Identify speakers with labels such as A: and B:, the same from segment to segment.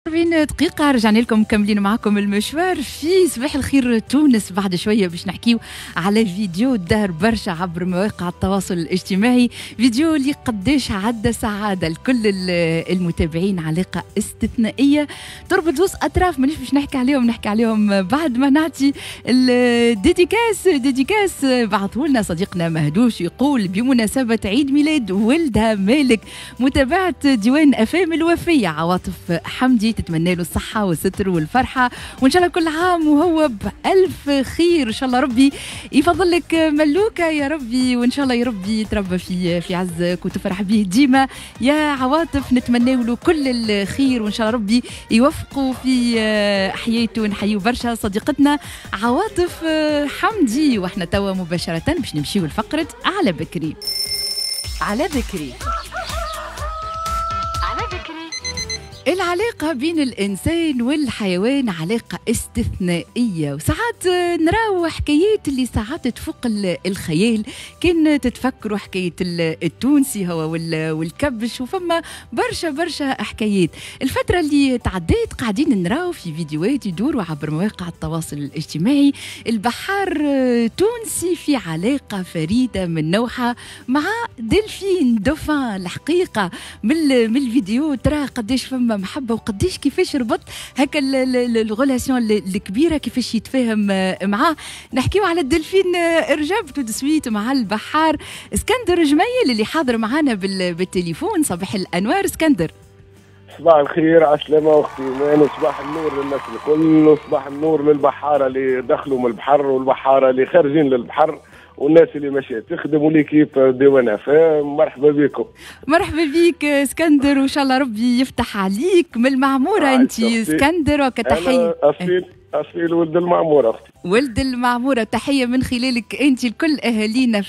A: 40 دقيقة رجعنا لكم مكملين معكم المشوار في صباح الخير تونس. بعد شوية باش نحكيو على فيديو دار برشا عبر مواقع التواصل الاجتماعي، فيديو اللي قداش عدى سعادة لكل المتابعين، علاقة استثنائية تربط زوز أطراف مانيش باش نحكي عليهم، نحكي عليهم بعد ما نعطي ال dédicace. dédicace بعثه لنا صديقنا مهدوش، يقول بمناسبة عيد ميلاد ولدها مالك متابعة ديوان أفام الوفية عواطف حمدي، تتمنى له الصحة والستر والفرحة وإن شاء الله كل عام وهو بألف خير. إن شاء الله ربي يفضل لك ملوكة يا ربي، وإن شاء الله يا ربي يتربى في عزك وتفرح به ديما يا عواطف. نتمنى له كل الخير وإن شاء الله ربي يوفقه في حياته. نحيو برشا صديقتنا عواطف حمدي. واحنا توا مباشرة باش نمشيو لفقرة على بكري. على بكري العلاقة بين الإنسان والحيوان علاقة استثنائية، وساعات نراو حكايات اللي ساعات تفوق الخيال. كان تتفكروا حكاية التونسي هو والكبش، وفما برشا برشا حكايات. الفترة اللي تعديت قاعدين نراو في فيديوهات يدوروا عبر مواقع التواصل الاجتماعي البحار تونسي في علاقة فريدة من نوعها مع دلفين dauphin. الحقيقة من الفيديو ترى قداش فما محبة وقديش كيفاش ربط هكا ال relation الكبيرة، كيفاش يتفاهم معاه. نحكيو على الدلفين رجب tout de suite مع البحار اسكندر جميل اللي حاضر معانا بالتليفون. صباح الانوار اسكندر.
B: صباح الخير، عسلامة اختي ايمان، وصباح النور للناس الكل، وصباح النور للبحاره اللي دخلوا من البحر والبحاره اللي خارجين للبحر والناس اللي ماشية تخدم و l'équipe ديوان افام. مرحبا بكم.
A: مرحبا بك اسكندر، وان شاء الله ربي يفتح عليك من المعمورة. انت اسكندر وكتحيه
B: اصيل ولد المعمورة اختي.
A: ولد المعمورة، تحية من خلالك انت لكل اهالينا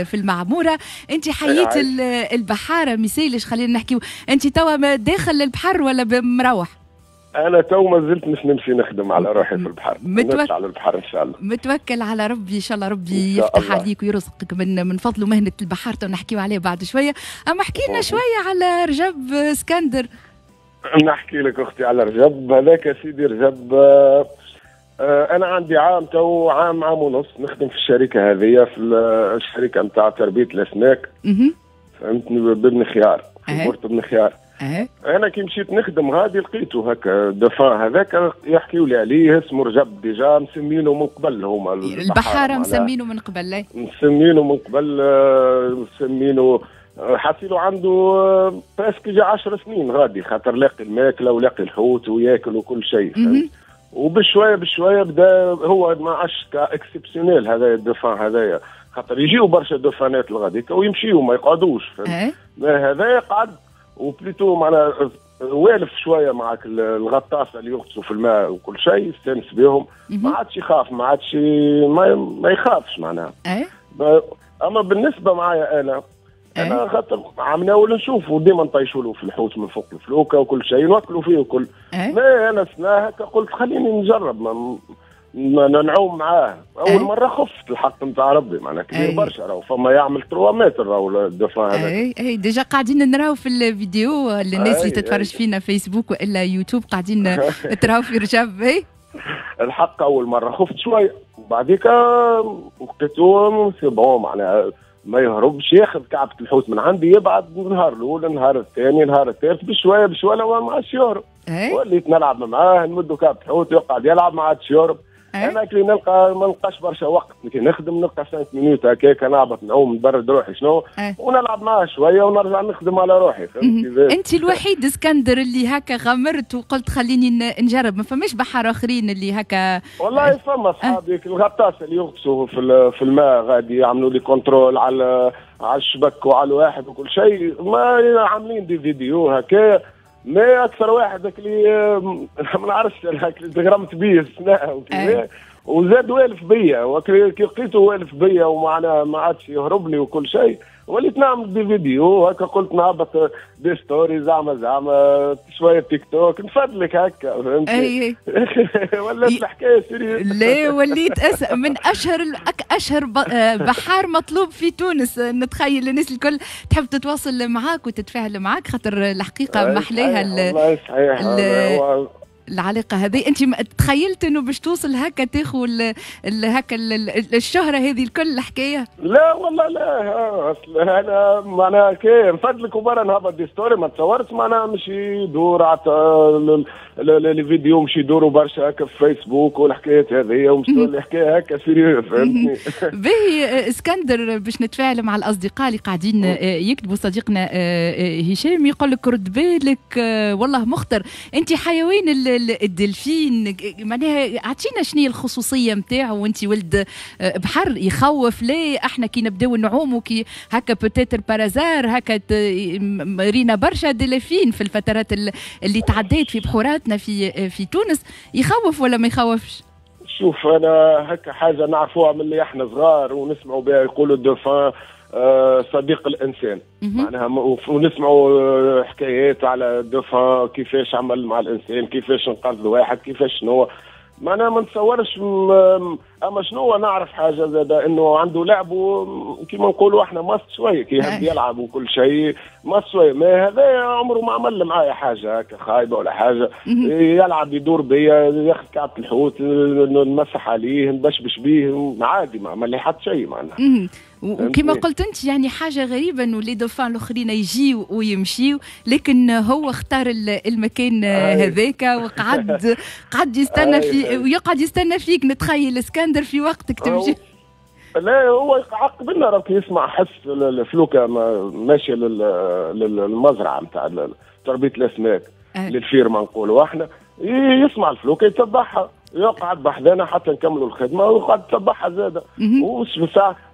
A: في المعمورة. انت حييت البحارة مثالش، خلينا نحكيو انت توا داخل البحر ولا مروح؟
B: انا تو ما زلت مش نمشي نخدم على روحي في البحر، نطلع على البحر ان شاء الله.
A: متوكل على ربي ان شاء الله ربي يفتح عليك ويرزقك من فضله مهنة البحار، تو نحكيو عليه بعد شوية. اما احكي لنا شوية على رجب اسكندر.
B: نحكي لك اختي على رجب. هذاك سيدي رجب، انا عندي عام تو، عام ونص نخدم في الشركة هذه، في الشركة نتاع تربيه الاسماك. فهمتني، بابن خيار، في port بن خيار. انا كي مشيت نخدم غادي لقيته هكا dauphin هذاك يحكيوا لي عليه، اسمه رجب، déjà مسمينه من قبل هما
A: البحارة، مسمينه من قبل،
B: مسمينه من قبل، مسمينه حاسيلو عنده presque جا 10 سنين غادي، خاطر لاقي الماكلة ولاقي الحوت وياكل وكل شيء. وبشويه بشوية بدا هو ما عادش exceptionnel هذا ال dauphin هذايا، خاطر يجيو برشا dauphin ات لغاديك ويمشيو ما يقعدوش. هذايا قعد و plutôt معناها والف شوية معك الغطاسه اللي يغطسوا في الماء وكل شيء، استانس بهم، ما عادش يخاف، ما عادش ما يخافش معناها. اما بالنسبة معايا انا خاطر عم ناول نشوفوا ديما نطيشوا له في الحوت من فوق الفلوكه وكل شيء، نوكلوا فيه وكل. ما انا سنة هكا قلت خليني نجرب ما نعوم معاه. اول مرة خفت الحق نتاع ربي، معناها كبير برشا راهو، فما يعمل 3 متر راهو ال dauphin هذاك.
A: اي déjà قاعدين نراو في الفيديو للناس اللي تتفرج فينا فيسبوك والا يوتيوب، قاعدين تراو في رجب.
B: الحق اول مرة خفت شوية، وبعديك لقيتو c'est bon معناها ما يهربش، ياخذ كعبة الحوت من عندي، يبعد النهار الاول، النهار الثاني، النهار الثالث، بشوية بشوية ما عادش يهرب. وليت نلعب معاه، نمدو كعبة الحوت يقعد يلعب ما عادش يهرب. انا كي نلقى ما نلقاش برشا وقت، كي نخدم نلقى 5 minutes هكاك نهبط نعوم نبرد روحي شنو، ونلعب معاه شوية ونرجع نخدم على روحي.
A: انت الوحيد اسكندر اللي هكا غمرت وقلت خليني نجرب، ما فماش بحر اخرين اللي هكا؟
B: والله فما اصحابي الغطاس اللي يغطسوا في الماء غادي يعملوا لي contrôle على الشبك وعلى الواحد وكل شيء، ما عاملين des vidéos هكا. ما اكثر واحد اللي ما نعرفش اللي تغرمت به السنة وزاد والف بيا، وكي لقيته والف بيا ومعناها ما عادش يهرب لي وكل شيء، وليت نعمل des vidéos هكا، قلت نهبط des stories زعما شوية تيك توك نفدلك هكا، فهمتني؟ ولات الحكاية sérieux.
A: لا وليت من اشهر بحار مطلوب في تونس، نتخيل الناس الكل تحب تتواصل معاك وتتفاعل معاك، خاطر الحقيقة محليها.
B: والله صحيح
A: العلاقة هذه. انت تخيلت انه باش توصل هكا تاخذ هكا الشهرة هذه الكل الحكاية؟
B: لا والله لا، اصل انا معناها كي نفدلك وبرا نهبط des stories، ما تصورت معناها مش يدور les vidéos مش يدوروا برشا هكا في فيسبوك والحكايات هذه، ومش الحكاية هكا sérieux، فهمتني؟
A: باهي اسكندر، باش نتفاعل مع الاصدقاء اللي قاعدين يكتبوا. صديقنا هشام يقول لك رد بالك والله مخطر، انت حيوان الدلفين، معناها اعطينا شنو هي الخصوصية نتاعو، وانت ولد بحر يخوف؟ ليه احنا كي نبداو نعوموا كي هكا peut-être par hasard هكا رينا برشا دلافين في الفترات اللي تعديت في بحوراتنا في تونس، يخوف ولا ما يخوفش؟
B: شوف انا هكا حاجة نعرفوها من اللي احنا صغار ونسمعوا بها، يقولوا ال dauphin صديق الانسان، معناها ونسمعوا حكايات على ال dauphin كيفاش عمل مع الانسان، كيفاش انقذ واحد، كيفاش شنو، معناها ما نتصورش. اما شنو نعرف حاجة زاد انه عنده لعبه كيما نقولوا احنا ماست شوية، كي يحب يلعب وكل شيء ماست شوية، ما هذا عمره ما عمل معايا حاجة هكا خايبة ولا حاجة، يلعب يدور بيا، ياخذ كعبه الحوت نمسح عليه نبشبش بيه عادي، ما عمل لي حتى شيء معناها.
A: وكما قلت انت يعني حاجة غريبة انه les dauphins الاخرين يجيو ويمشيو، لكن هو اختار المكان هذاك وقعد قعد يستنى في ويقعد يستنى فيك. نتخيل اسكندر في وقتك تمشي.
B: لا هو يعقب لنا، راك يسمع حس الفلوكه ماشية للمزرعه نتاع تربيه الاسماك، لل ferme نقولوا احنا، يسمع الفلوكه يتبعها، يقعد بحذانا حتى نكملوا الخدمة ويقعد يتبعها زاده،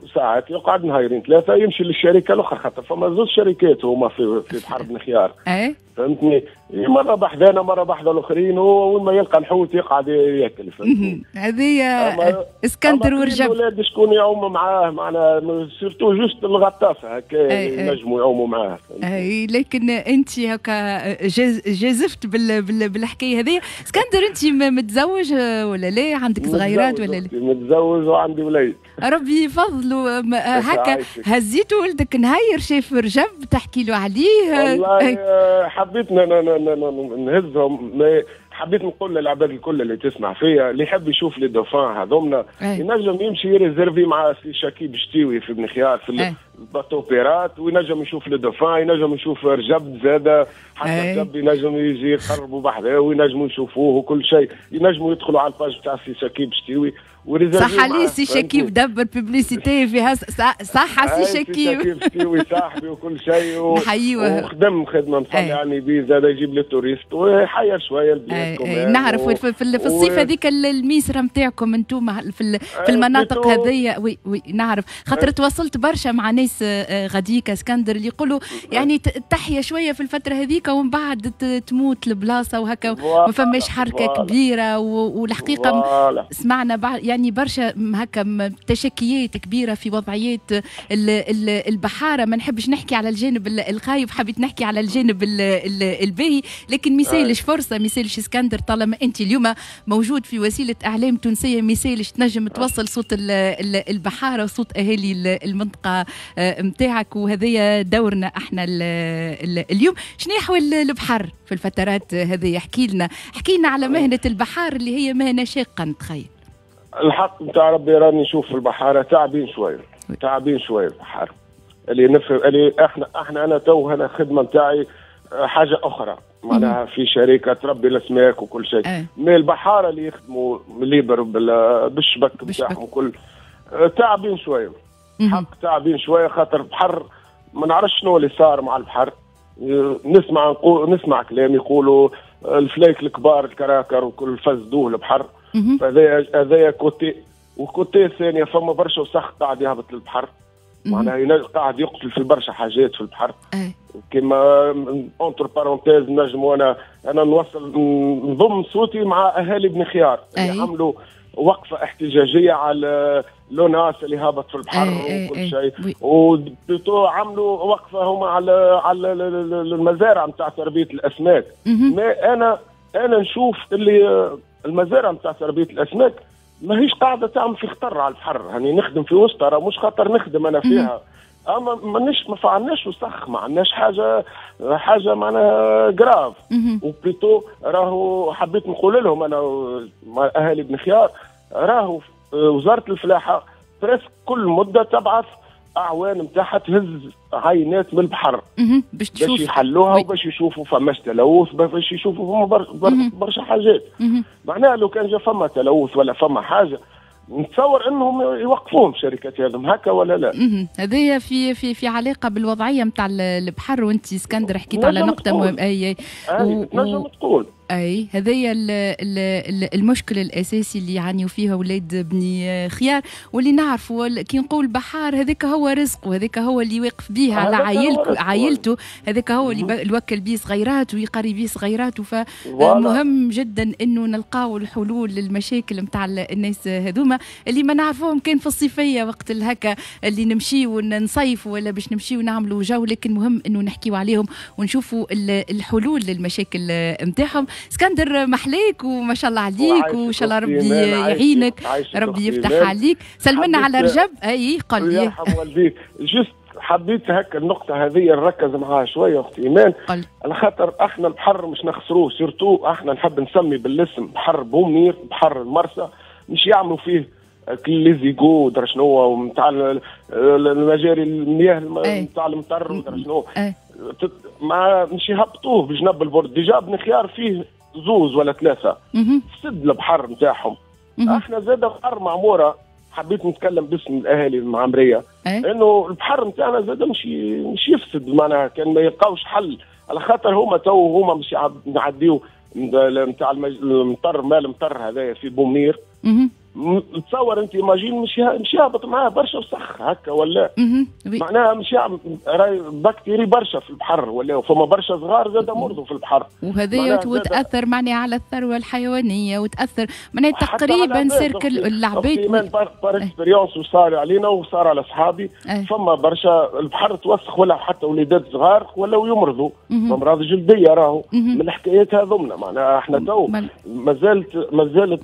B: وساعات يقعد نهارين ثلاثة يمشي للشركة الاخرى، خاطر فما زوج شركات هما في بحر بن خيار، فهمتني؟ مرة بحذانا مرة بحذا الاخرين، وين ما يلقى الحوت يقعد ياكل، فهمتني؟
A: هذه اسكندر ورجب.
B: الاولاد شكون يعوم معاه، معنا surtout juste الغطاسه هكا ينجموا يعوموا معاه.
A: اي لكن انت هكا جازفت بالحكاية هذه. اسكندر انت متزوج ولا لا؟ عندك صغيرات ولا لا؟
B: متزوج وعندي وليد.
A: ربي يفضلوا. هكا هزيتوا ولدك نهير شاف رجب تحكي له عليه؟
B: والله حبيت نهزهم، حبيت نقول للعباد الكل اللي تسمع فيا، اللي يحب يشوف les dauphins هذومنا ينجم يمشي يريزيرفي مع سي شكيب شتيوي في بن خيار في ال bateau pirate، وينجم يشوف les dauphins، ينجم يشوف رجب زاده، حتى رجب ينجم يجي يقربوا بحذاه وينجموا يشوفوه وكل شيء، ينجموا يدخلوا على ال page تاع سي شكيب شتيوي.
A: صح عليه سي شكيب دبر publicité فيها، صح سي شكيب؟
B: سي شكيب صاحبي وكل شيء،
A: نحيوه
B: وخدم خدمة مصلي على النبي زاد، يجيب لي touristes ويحير شوية البلاد.
A: نعرف في الصيف هذيك الميسره نتاعكم انتم في المناطق هذيا. oui oui نعرف، خاطر تواصلت برشا مع ناس غاديك اسكندر اللي يقولوا يعني تحيا شوية في الفترة هذيك ومن بعد تموت البلاصة وهكا، ما فماش حركة كبيرة. والحقيقة سمعنا بعد يعني برشا هكا تشكيات كبيرة في وضعيات البحارة. ما نحبش نحكي على الجانب الخايب، حبيت نحكي على الجانب الباهي، لكن ميسالش فرصة، ميسالش اسكندر، طالما انت اليوم موجود في وسيلة اعلام تونسية ميسالش تنجم توصل صوت البحارة وصوت اهالي المنطقة نتاعك، وهذايا دورنا احنا اليوم. شنو احوال البحر في الفترات هذه؟ احكي لنا، احكي لنا على مهنة البحار اللي هي مهنة شاقه نتخيل.
B: الحق نتاع ربي راني نشوف في البحارة تعبين شوية، تعبين شوية البحارة. اللي نفهم اللي احنا انا تو انا الخدمة نتاعي حاجة اخرى، معناها في شركة تربي الاسماك وكل شيء، mais البحارة اللي يخدموا libre بالشبك نتاعهم كل تعبين شوية. حق تعبين شوية، خاطر البحر ما نعرفش شنو اللي صار مع البحر. نسمع كلام يقولوا الفلايك الكبار الكراكر وكل فزدوه البحر، فهذايا côté، و côté الثانية فما برشا وسخ قاعد يهبط للبحر، معناها قاعد يقتل في برشا حاجات في البحر. كما entre parenthèses نجم انا نوصل نضم صوتي مع اهالي بن خيار اللي عملوا وقفه احتجاجية على l'ONAS اللي هابط في البحر وكل شيء، و plutôt عملوا وقفه هما على المزارع نتاع تربيه الاسماك. mais انا نشوف اللي المزارع نتاع تربيه الاسماك ماهيش قاعدة تعمل في خطر على البحر، يعني نخدم في وسطها مش خطر نخدم انا فيها، اما مانيش ما فعناش وسخ، ما عندناش حاجة معناها grave. و plutôt راهو حبيت نقول لهم انا مع اهالي بن خيار، راهو وزارة الفلاحة presque كل مده تبعث اعوان نتاعها تهز عينات من البحر
A: باش
B: يحلوها وباش يشوفوا فماش تلوث، باش يشوفوا فما برشا حاجات. معناها لو كان جا فما تلوث ولا فما حاجة نتصور انهم يوقفوهم شركات هذم هكا ولا لا.
A: هذايا في في في علاقة بالوضعيه نتاع البحر، وانت اسكندر حكيت على نقطة مهمة.
B: اي تنجم تقول
A: اي هذايا المشكل الاساسي اللي يعانيوا فيه اولاد بني خيار، واللي نعرفوا كي نقول بحار هذاك هو رزقه، هذاك هو اللي واقف به على عائلته، هذاك هو اللي يوكل به صغيرات ويقري به صغيرات. فمهم جدا انه نلقاو الحلول للمشاكل نتاع الناس هذوما اللي ما نعرفوهم كان في الصيفية وقت الهكا اللي نمشيو ونصيفوا ولا باش نمشيو نعملوا جو، لكن مهم انه نحكيو عليهم ونشوفوا الحلول للمشاكل نتاعهم. اسكندر محليك وما شاء الله عليك، وان شاء الله ربي يعينك، ربي يفتح عليك. سلمنا على رجب. اي قل لي
B: يرحم والديك. juste حبيت هكا النقطة هذه نركز معاها شوية أختي إيمان، على خاطر احنا البحر مش نخسروه، surtout احنا نحب نسمي بالاسم بحر بومنير، بحر المرسى، مش يعملوا فيه les égouts ودرا شنو ونتاع المجاري المياه نتاع المطر ودرا شنو، ما مش يهبطوه بجنب ال port. déjà بن خيار فيه زوز ولا ثلاثة سد البحر نتاعهم. احنا زاد بحر معموره، حبيت نتكلم باسم الاهالي المعمريه انه البحر نتاعنا زاد مش يفسد، معناها كان ما يلقاوش حل، على خاطر هما تو هما مش نعديو نتاع المطر، مال المطر هذايا في بومنير. تصور انت imagine مش يهبط معاه برشا وسخ هكا ولا معناها مش راي bactéries برشا في البحر ولا فما برشا صغار زاد مرضوا في البحر،
A: وهذا وتاثر معناها على الثروة الحيوانية، وتاثر معناها تقريبا cercle العباد
B: par expérience، وصار علينا وصار على اصحابي. فما برشا البحر توسخ ولا حتى وليدات صغار ولاو يمرضوا امراض جلدية راهو من الحكايات هذومنا. معناها احنا تو مازالت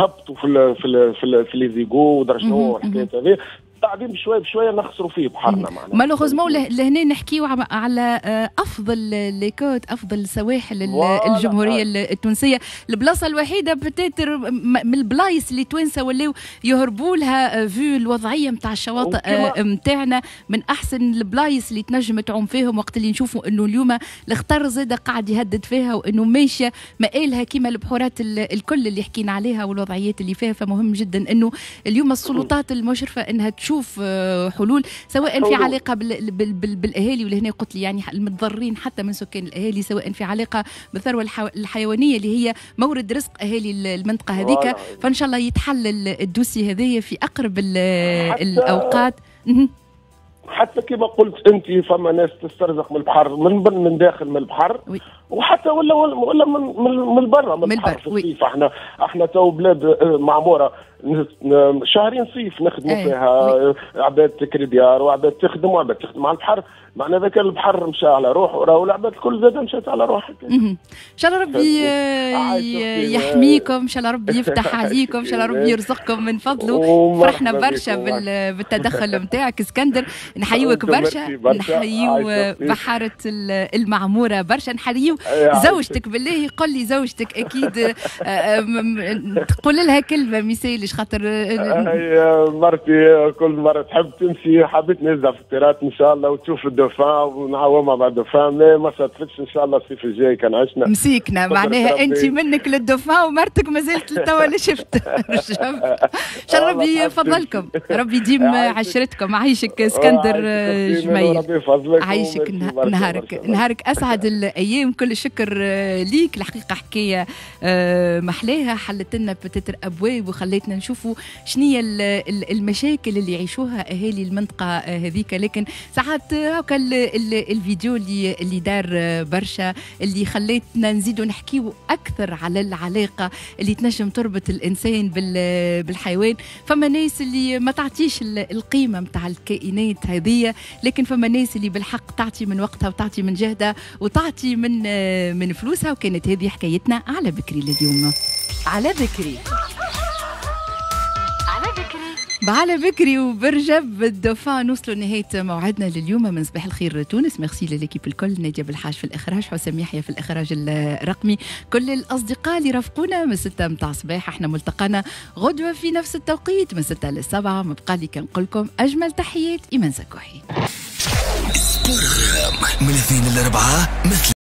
B: يهبطوا في ال في ال في, ال في les égouts ودرا شنو الحكايات هذه، بعدين بشوية بشوية نخسروا فيه بحرنا.
A: معناها malheureusement لهنا نحكيو على افضل les côtes، افضل سواحل الجمهورية التونسية، البلاصة الوحيدة peut-être من البلايص اللي توانسة ولاو يهربوا لها vu الوضعية نتاع الشواطئ نتاعنا، من احسن البلايص اللي تنجم تعوم فيهم، وقت اللي نشوفوا انه اليوم الخطر زاد قاعد يهدد فيها وانه ماشية مآلها كيما البحورات الكل اللي حكينا عليها والوضعيات اللي فيها. فمهم جدا انه اليوم السلطات المشرفة انها تشوف حلول، سواء في علاقة بالاهالي، ولهنا قلت لي يعني المتضررين حتى من سكان الاهالي، سواء في علاقة بالثروه الحيوانية اللي هي مورد رزق اهالي المنطقة هذيك. فان شاء الله يتحل ال dossier هذايا في اقرب الاوقات.
B: حتى كما قلت انت فما ناس تسترزق من البحر، من داخل من البحر، وحتى ولا من برا من البحر في الصيف. احنا تو بلاد معموره شهرين صيف نخدموا فيها، عباد تكري ديار وعباد تخدم وعباد تخدم على البحر، معناها ذاك البحر مشى على روحه، راهو العباد الكل زاد مشات على روحها.
A: ان شاء الله ربي يحميكم، ان شاء الله ربي يفتح عليكم، ان شاء الله ربي يرزقكم من فضله. فرحنا برشا بالتدخل نتاعك اسكندر، نحيوك برشا، نحيو بحارة المعمورة برشا، نحيو زوجتك. بالله قل لي زوجتك اكيد تقول لها كلمة ميسالش خاطر
B: هي مرتي كل مرة تحب تمشي، حبيت نهزها في ال pirate ان شاء الله وتشوف الدوفان ونعومها مع الدوفان، ما صدفتش ان شاء الله الصيف الجاي كان عشنا
A: مسيكنا. معناها انت منك للدوفان ومرتك مازالت لتوا لا شفت. ان شاء الله ربي يفضلكم، ربي يديم عشرتكم. عايشك اسكندر جميل، عايشك، نهارك اسعد الايام. كل الشكر ليك، الحقيقة حكاية محلاها، حلت لنا peut-être ابواب وخليتنا نشوفوا شنية المشاكل اللي يعيشوها اهالي المنطقة هذيك. لكن ساعات هاكا هاكا الفيديو اللي دار برشا، اللي خليتنا نزيدوا نحكيو اكثر على العلاقة اللي تنجم تربط الانسان بالحيوان. فما ناس اللي ما تعطيش القيمة نتاع الكائنات هذه، لكن فما ناس اللي بالحق تعطي من وقتها وتعطي من جهدها وتعطي من فلوسها. وكانت هذه حكايتنا على بكري لليوم.
C: على بكري،
A: على بكري وبرجب ال dauphin نوصلوا لنهاية موعدنا لليوم من صباح الخير تونس. merci ل l'équipe الكل، ناديه بالحاج في الاخراج، حسام يحيى في الاخراج الرقمي، كل الاصدقاء اللي رافقونا من 6 متاع الصباح. احنا ملتقانا غدوه في نفس التوقيت من 6 ل 7. ما بقى لي كنقول لكم اجمل تحيات، ايمان زكوحي.
D: من 2 ل 4 مثل